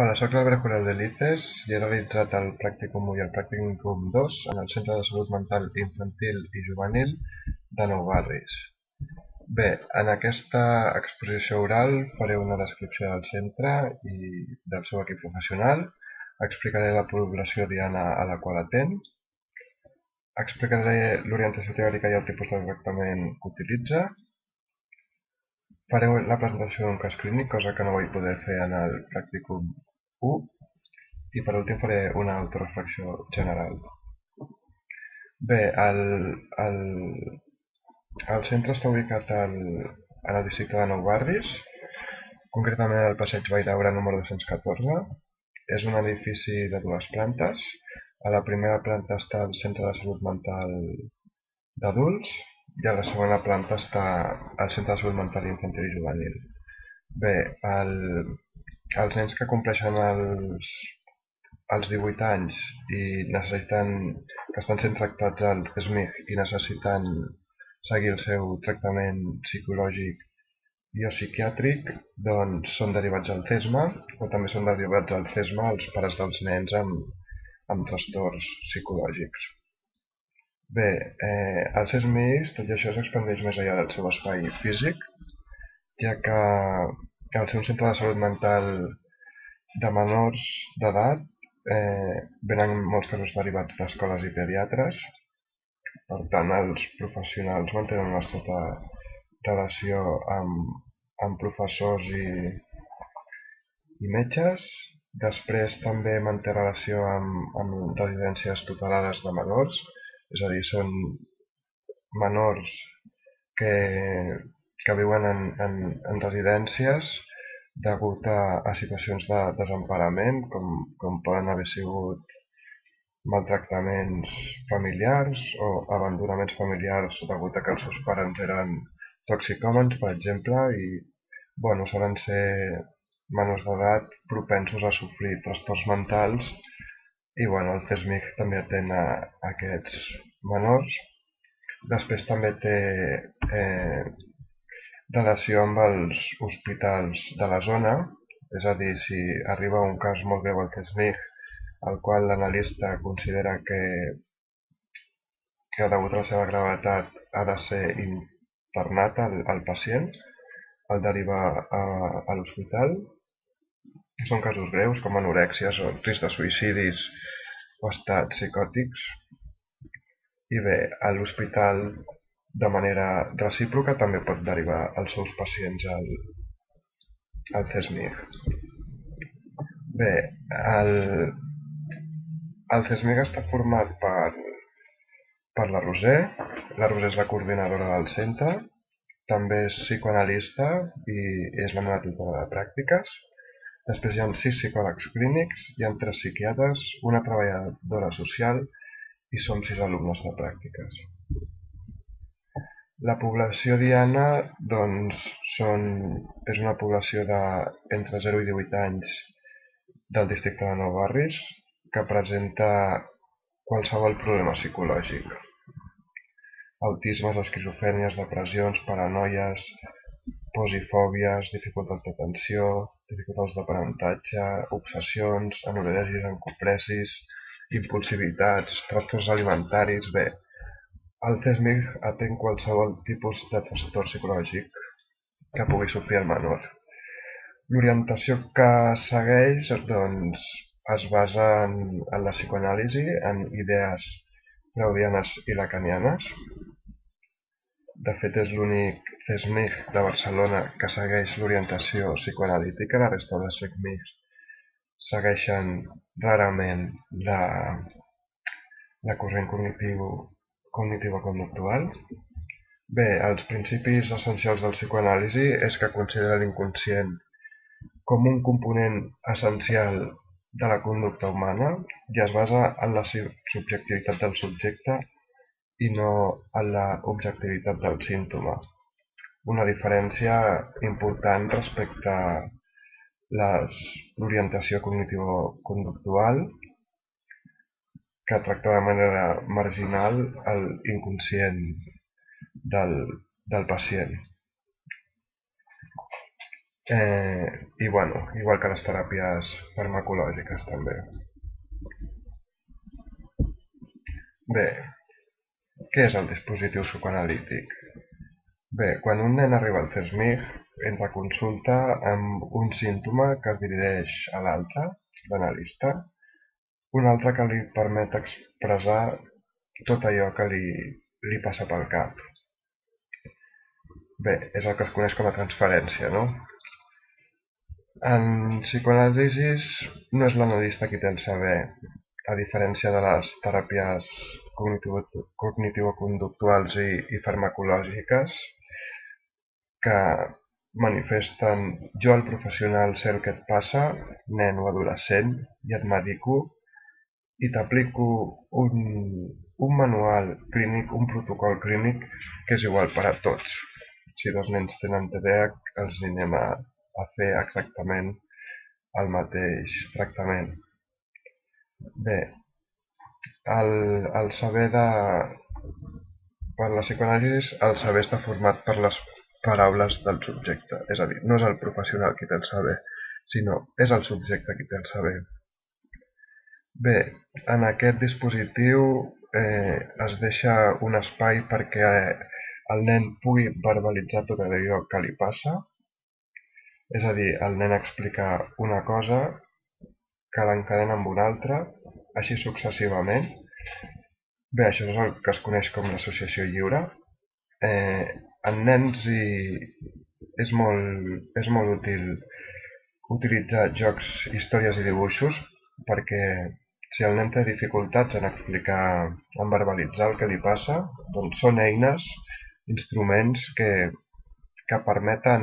Hola, soc l'Albert Corel de l'ICES i he realitzat el Pràcticum 1 i el Pràcticum 2 en el Centre de Salut Mental Infantil i Juvenil de Nou Barris. Bé, en aquesta exposició oral faré una descripció del centre i del seu equip professional, explicaré la població diana a la qual atén, explicaré l'orientació teòrica i el tipus de tractament que utilitza, faré la presentació d'un cas clínic, cosa que no vaig poder fer en el Pràcticum 1, i per últim faré una autoreflexió general. Bé, el, el centre està ubicat en el districte de Nou Barris, concretament al passeig Vall d'Aura número 214. És un edifici de dues plantes. A la primera planta està el Centre de Salut Mental d'Adults i a la segona planta està el Centre de Salut Mental Infantil i Juvenil. Bé, els nens que compleixen als 18 anys i que estan sent tractats al CESMIG i necessiten seguir el seu tractament psicològic i o psiquiàtric, doncs són derivats al CESMA, o també són derivats al CESMA els pares dels nens amb trastorns psicològics. Bé, el CESMIG, tot i això, s'expandeix més enllà del seu espai físic, ja que al ser un centre de salut mental de menors d'edat, venen molts casos derivats d'escoles i pediatres. Per tant, els professionals mantenen una estreta relació amb professors i metges. Després també manté relació amb residències tutelades de menors, és a dir, són menors que, que viuen en residències degut a situacions de desemparament, com poden haver sigut maltractaments familiars o abandonaments familiars degut a que els seus pares eren toxicòmans, per exemple, i solen ser menors d'edat propensos a sofrir trastorns mentals i el CESMIG també atén a aquests menors. Després també té relació amb els hospitals de la zona, és a dir, si arriba un cas molt greu al CESMIG el qual l'analista considera que degut a la seva gravetat ha de ser internat el pacient, el deriva a l'hospital. Són casos greus com anorèxies o risc de suïcidis o estats psicòtics. I bé, a l'hospital de manera recíproca també pot derivar els seus pacients al CESMIG. Bé, el CESMIG està format per la Roser. La Roser és la coordinadora del centre, també és psicoanalista i és la meva tutora de pràctiques. Després hi ha 6 psicòlegs clínics, hi ha 3 psiquiatres, una treballadora social i som 6 alumnes de pràctiques. La població diana doncs, és una població entre 0 i 18 anys del districte de Nou Barris que presenta qualsevol problema psicològic. Autismes, esquizofrènies, depressions, paranoies, pors i fòbies, dificultats d'atenció, dificultats d'aprenentatge, obsessions, anorèsies, encopresis, impulsivitats, trastorns alimentaris. Bé, el CESMIG atén qualsevol tipus de trastorn psicològic que pugui sofrir el menor. L'orientació que segueix doncs, es basa en la psicoanàlisi, en idees freudianes i lacanianes. De fet, és l'únic CESMIG de Barcelona que segueix l'orientació psicoanalítica. La resta de CESMIGs segueixen rarament la corrent cognitiva-conductual. Bé, els principis essencials del psicoanàlisi és que considera l'inconscient com un component essencial de la conducta humana i es basa en la subjectivitat del subjecte i no en l'objectivitat del símptoma. Una diferència important respecte a l'orientació cognitivo-conductual, que tracta de manera marginal l'inconscient del pacient. I bueno, igual que les teràpies farmacològiques també. Bé, què és el dispositiu psicoanalític? Bé, quan un nen arriba al CESMIG, entra a consulta amb un símptoma que es dirigeix a l'altre, l'analista, un altre que li permet expressar tot allò que li passa pel cap. Bé, és el que es coneix com a transferència, no? En psicoanàlisi no és l'analista qui té el saber, a diferència de les teràpies cognitivo-conductuals i farmacològiques, que manifesten jo, el professional, sé el que et passa, nen o adolescent, i et medico i t'aplico un manual clínic, un protocol clínic que és igual per a tots. Si dos nens tenen TDAH, els anem a fer exactament el mateix tractament. Bé, el saber per la psicoanàlisi, el saber està format per les paraules del subjecte. És a dir, no és el professional qui té el saber, sinó és el subjecte qui té el saber. Bé, en aquest dispositiu es deixa un espai perquè el nen pugui verbalitzar tot allò que li passa. És a dir, el nen explica una cosa que l'encadena amb una altra, així successivament. Bé, això és el que es coneix com l'associació lliure. En nens és molt útil utilitzar jocs, històries i dibuixos, perquè si el nen té dificultats en explicar, en verbalitzar el que li passa, doncs són eines, instruments que permeten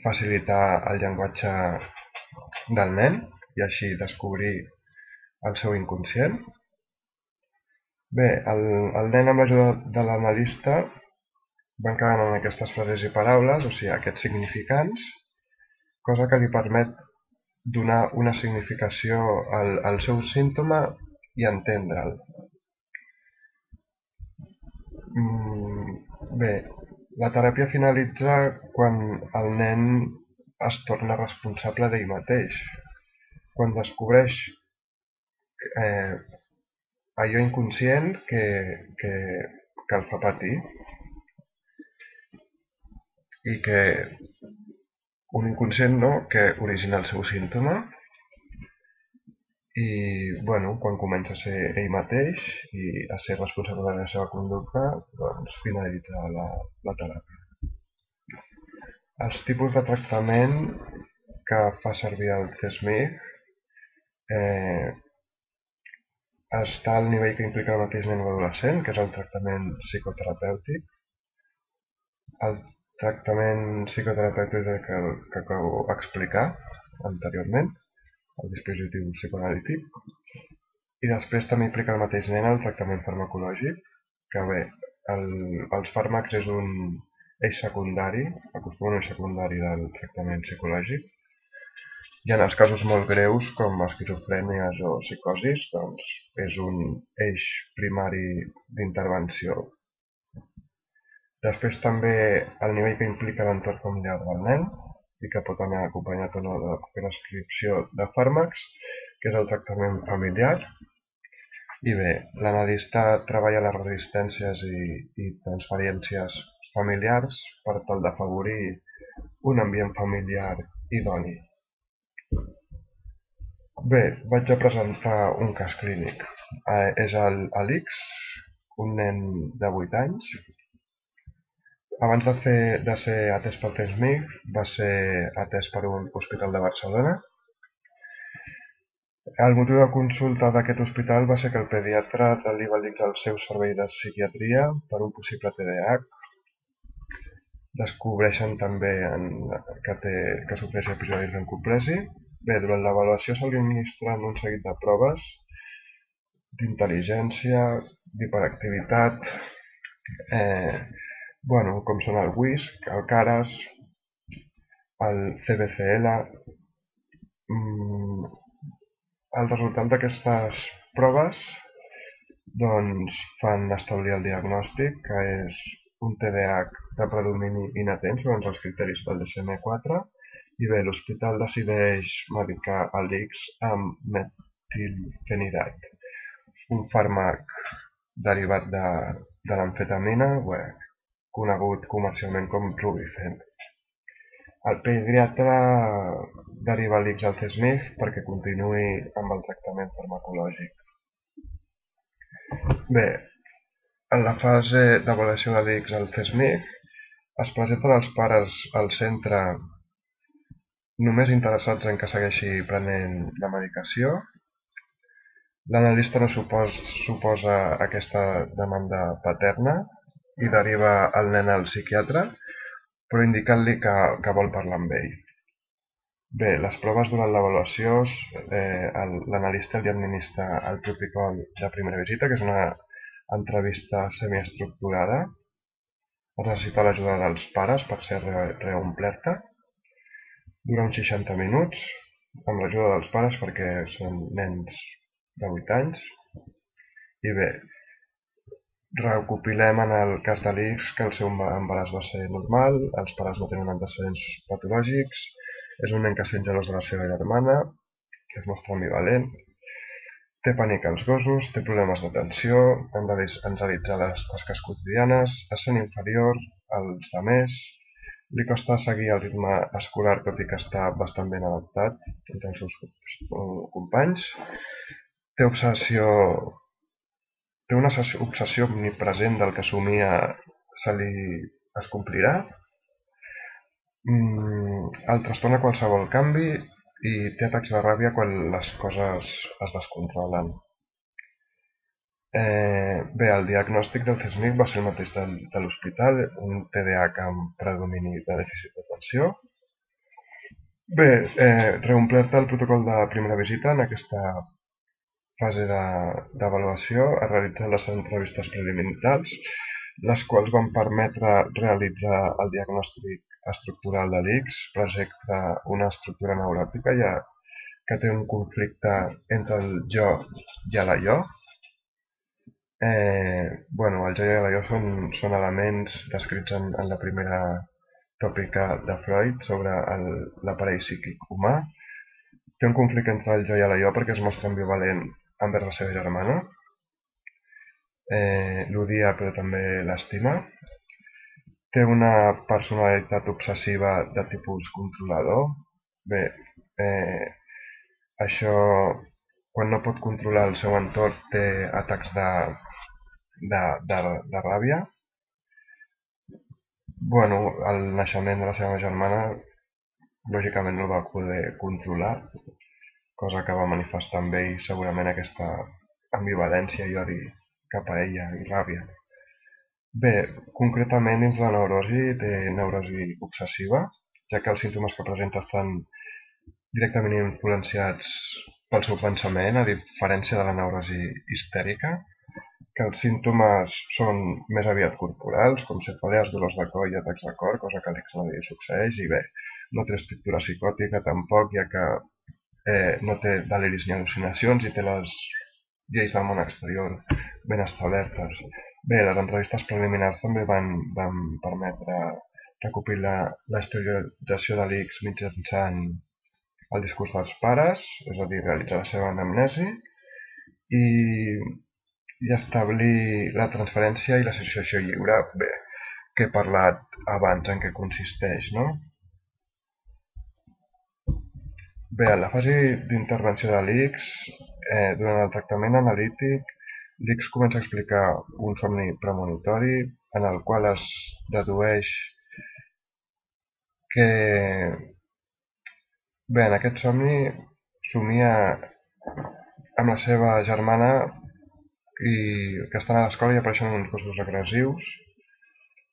facilitar el llenguatge del nen i així descobrir el seu inconscient. Bé, el nen amb l'ajuda de l'analista va encadenant aquestes frases i paraules, o sigui, aquests significants, cosa que li permet donar una significació al seu símptoma i entendre'l. Bé, la teràpia finalitza quan el nen es torna responsable d'ell mateix, quan descobreix allò inconscient que el fa patir i que un inconscient que origina el seu símptoma i bueno, quan comença a ser ell mateix i a ser responsable de la seva conducta, doncs finalitza la teràpia. Els tipus de tractament que fa servir el CESMIG està al nivell que implica el mateix nen o adolescent, que és el tractament psicoterapèutic. El tractament psicoterapèutic que acabo d'explicar anteriorment, el dispositiu psicoanalític. I després també implica el mateix nen el tractament farmacològic, que bé, els fàrmacs és un eix secundari, acostuma un eix secundari del tractament psicològic. I en els casos molt greus, com esquizofrènies o psicosis, doncs és un eix primari d'intervenció. Després també el nivell que implica l'entorn familiar del nen i que pot anar acompanyat o no de prescripció de fàrmacs, que és el tractament familiar. I bé, l'analista treballa les resistències i transferències familiars per tal d'afavorir un ambient familiar idoni. Bé, vaig a presentar un cas clínic. És l'Àlex, un nen de 8 anys. Abans de ser atès pel CESMIG, va ser atès per un hospital de Barcelona. El motiu de consulta d'aquest hospital va ser que el pediatre li va dictar el seu servei de psiquiatria per un possible TDAH. Descobreixen també que sofreix episodis d'encomplesi. Bé, durant l'avaluació se li administren un seguit de proves d'intel·ligència, d'hiperactivitat, com són el WISC, el CARAS, el CBCL. El resultat d'aquestes proves doncs, fan establir el diagnòstic, que és un TDAH de predomini inatent segons els criteris del DSM-4 i bé, l'hospital decideix medicar a l'X amb metilfenidat, un fàrmac derivat de l'amfetamina, conegut comercialment com Rubifen. El pediatre deriva l'X al CSMIC perquè continuï amb el tractament farmacològic. Bé, en la fase d'avaluació de l'X al CSMIC es presenten els pares al centre només interessats en que segueixi prenent la medicació. L'analista no suposa aquesta demanda paterna i deriva el nen al psiquiatre, però indicant-li que vol parlar amb ell. Bé, les proves durant l'avaluació, l'analista li administra el protocol de primera visita, que és una entrevista semiestructurada. Es necessita l'ajuda dels pares per ser reomplerta. Dura uns 60 minuts, amb l'ajuda dels pares perquè són nens de 8 anys. I bé, recopilem en el cas de l'X que el seu embaràs va ser normal, els pares no tenen antecedents patològics, és un nen que sent gelós de la seva germana, que es mostra ambivalent, té pànic als gossos, té problemes d'atenció, hem de realitzar les tasques quotidianes, es sent inferior als altres, li costa seguir el ritme escolar tot i que està bastant ben adaptat entre els seus companys, té una obsessió omnipresent del que somia es complirà, el trastorna qualsevol canvi i té atacs de ràbia quan les coses es descontrolen. Bé, el diagnòstic del CSMIC va ser el mateix de l'hospital, un TDAH amb predomini de dèficit d'atenció. Bé, reomplerta el protocol de primera visita. En aquesta fase d'avaluació es realitzen les entrevistes preliminars, les quals van permetre realitzar el diagnòstic estructural de l'X, projecta una estructura neuròtica que té un conflicte entre el jo i la jo. El jo i la jo són elements descrits en la primera tòpica de Freud sobre l'aparell psíquic humà. Té un conflicte entre el jo i la jo perquè es mostra ambivalent envers la seva germana. L'odia però també l'estima. Té una personalitat obsessiva de tipus controlador. Bé, això, quan no pot controlar el seu entorn, té atacs de ràbia. El naixement de la seva germana, lògicament no el va poder controlar, cosa que va manifestar amb ell segurament aquesta ambivalència i odi cap a ella i ràbia. Bé, concretament dins la neurosi té neurosi obsessiva, ja que els símptomes que presenta estan directament influenciats pel seu pensament, a diferència de la neurosi histèrica, que els símptomes són més aviat corporals, com cefalees, dolors de coll i atacs de cor, cosa que a l'X no li succeeix, i bé, no té estructura psicòtica tampoc, ja que no té deliris ni al·lucinacions i té les lleis del món exterior ben establertes. Bé, les entrevistes preliminars també van permetre recopilar la historització de l'X mitjançant el discurs dels pares, és a dir, realitzar la seva anamnesi i establir la transferència i l'associació lliure, bé, que he parlat abans en què consisteix, no? Bé, en la fase d'intervenció de l'X, durant el tractament analític, l'X comença a explicar un somni premonitori en el qual es dedueix que... Bé, en aquest somni somia amb la seva germana que estan a l'escola i apareixen uns gossos agressius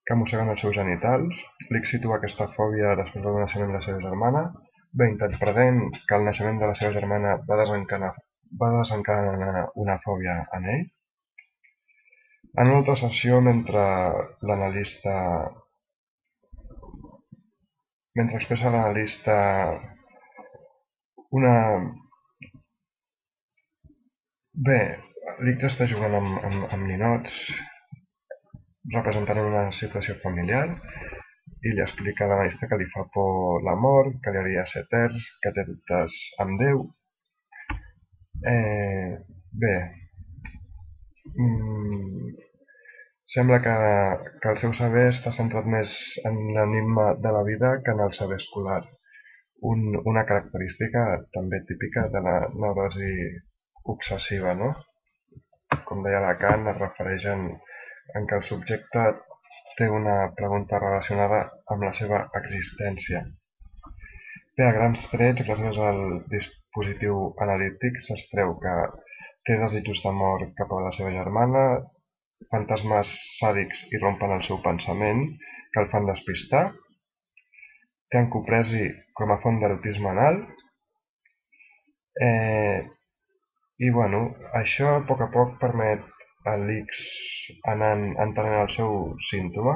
que mosseguen els seus genitals. L'X situa aquesta fòbia després del naixement de la seva germana. Bé, interpretant que el naixement de la seva germana va desencadenar una fòbia en ell. En una altra sessió, mentre expressa l'analista una... Bé, l'X està jugant amb ninots representant una situació familiar i li explica a l'analista que li fa por la mort, que li hauria de ser terç, que té dubtes amb Déu. Bé, sembla que el seu saber està centrat més en l'enigma de la vida que en el saber escolar, una característica també típica de la neurosi obsessiva, no? Com deia Lacan, es refereix en què el subjecte té una pregunta relacionada amb la seva existència. Bé, a grans trets, gràcies al dispositiu analític, s'extreu que té desitjos d'amor cap a la seva germana, fantasmes sàdics irrompen el seu pensament, que el fan despistar, té encopresi com a font d'erotisme anal, i bueno, això a poc permet a l'X anar entenent el seu símptoma.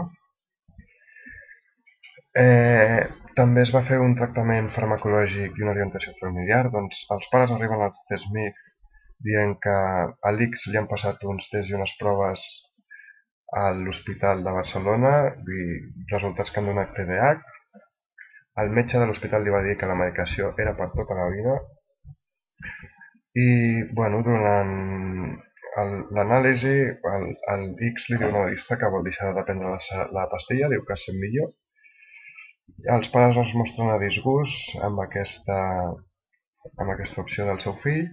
També es va fer un tractament farmacològic i una orientació familiar. Doncs els pares arriben al CESMIC dient que a l'X li han passat uns tests i unes proves a l'Hospital de Barcelona i resultats que han donat TDAH. El metge de l'hospital li va dir que la medicació era per tota la vida i bueno, durant l'anàlisi el X li diu una analista que vol deixar de prendre la pastilla, diu que es sent millor. Els pares es mostren a disgust amb aquesta opció del seu fill,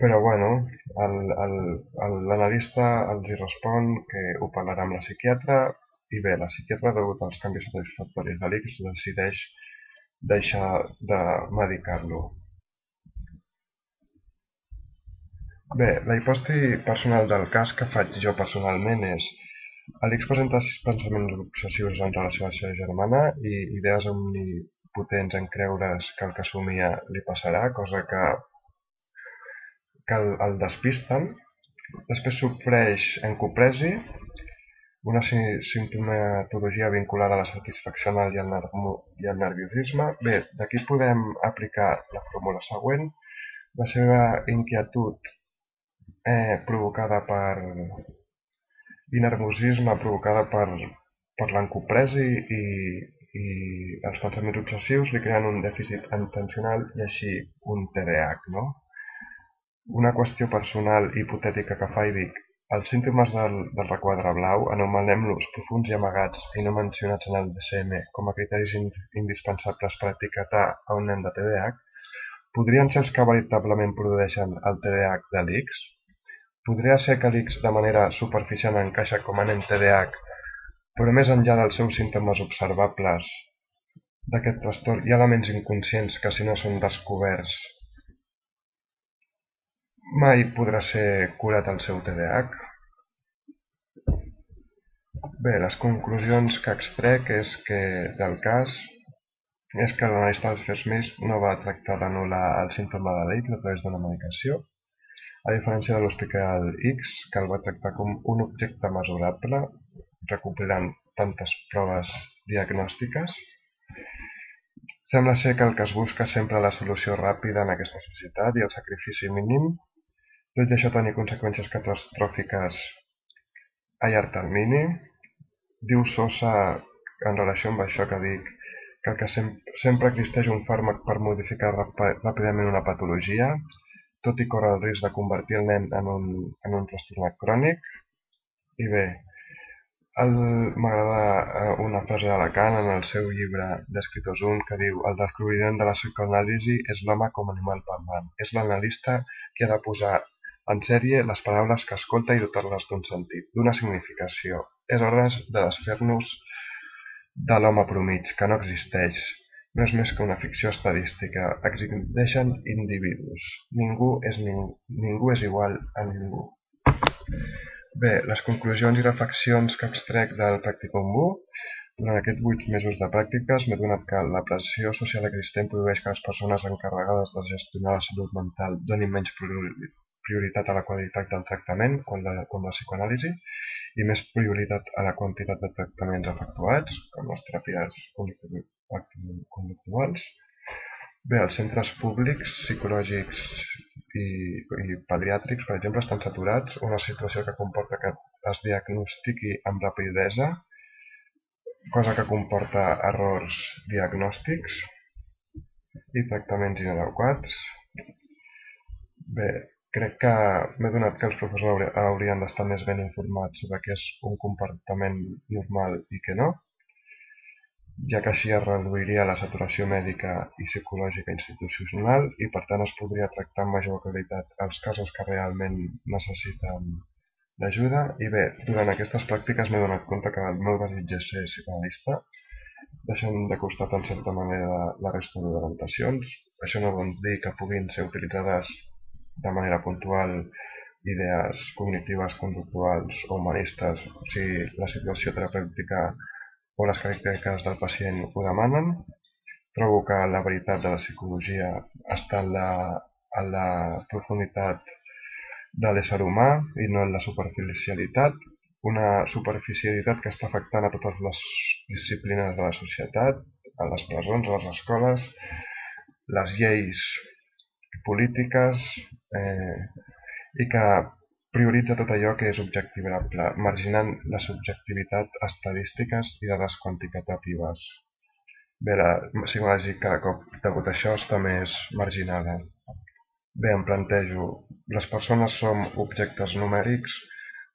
però bueno, l'analista els hi respon que ho parlarà amb la psiquiatra i bé, la psiquiatra, degut als canvis satisfactoris de l'X, decideix deixar de medicar-lo. Bé, la hipòtesi personal del cas que faig jo personalment és l'X presenta 6 pensaments obsessius en relació a la seva germana i idees omnipotents en creure's que el que somia li passarà, cosa que el despisten. Després sofreix encopresi, una simptomatologia vinculada a la satisfacció anal i al nerviosisme. Bé, d'aquí podem aplicar la fórmula següent. La seva inquietud provocada i nerviosisme provocada per l'encopresi i els pensaments obsessius li creen un dèficit atencional i així un TDAH, no? Una qüestió personal i hipotètica que fa i dic, els símptomes del requadre blau, anomenem-los profunds i amagats i no mencionats en el DSM com a criteris indispensables per etiquetar a un nen de TDAH, podrien ser els que veritablement produeixen el TDAH de l'X? Podria ser que l'X de manera superficial encaixa com a nen TDAH, però més enllà dels seus símptomes observables d'aquest trastorn hi ha elements inconscients que si no són descoberts mai podrà ser curat el seu TDAH? Bé, les conclusions que extrec del cas és que l'analista Smith no va tractar d'anul·lar el símptoma de l'X a través d'una medicació, a diferència de l'Hospital X, que el va tractar com un objecte mesurable, recopilant tantes proves diagnòstiques. Sembla ser que el que es busca sempre la solució ràpida en aquesta societat i el sacrifici mínim, tot i això tenir conseqüències catastròfiques a llarg termini. Diu Sosa, en relació amb això que dic, que sempre existeix un fàrmac per modificar ràpidament una patologia, tot i córrer el risc de convertir el nen en un trastornat crònic. I bé, m'agrada una frase de Lacan en el seu llibre d'Escriptors 1 que diu: el descobriment de la psicoanàlisi és l'home com a animal parlant. És l'analista qui ha de posar en sèrie les paraules que escolta i dotar-les d'un sentit, d'una significació. És hora de desfer-nos de l'home promig, que no existeix. No és més que una ficció estadística. Existeixen individus. Ningú és igual a ningú. Bé, les conclusions i reflexions que extrec del Practicum 1. Durant aquests 8 mesos de pràctiques m'he adonat que la pressió social existent produeix que les persones encarregades de gestionar la salut mental donin menys prioritat a la qualitat del tractament, com la psicoanàlisi, i més prioritat a la quantitat de tractaments efectuats, com les teràpies conductuals. Bé, els centres públics, psicològics i pediàtrics, per exemple, estan saturats, una situació que comporta que es diagnostiqui amb rapidesa, cosa que comporta errors diagnòstics i tractaments inadequats. Bé, crec que m'he donat que els professors haurien d'estar més ben informats sobre què és un comportament normal i què no, ja que així es reduiria la saturació mèdica i psicològica institucional i per tant es podria tractar amb major qualitat els casos que realment necessiten d'ajuda. I bé, durant aquestes pràctiques m'he donat compte que el meu desig és ser psicoanalista, deixant de costat en certa manera la resta d'orientacions. Això no vol dir que puguin ser utilitzades de manera puntual idees cognitives, conductuals o humanistes si la situació terapèutica o les característiques del pacient ho demanen. Trobo que la veritat de la psicologia està en la profunditat de l'ésser humà i no en la superficialitat, una superficialitat que està afectant a totes les disciplines de la societat, a les presons, a les escoles, les lleis polítiques, i que prioritza tot allò que és objectivable, marginant la subjectivitat estadístiques i dades quantitatives. Bé, la psicoanàlisi cada cop, degut a això, està més marginada. Bé, em plantejo, les persones som objectes numèrics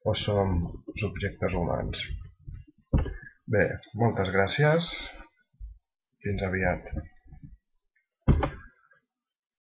o som subjectes humans? Bé, moltes gràcies. Fins aviat.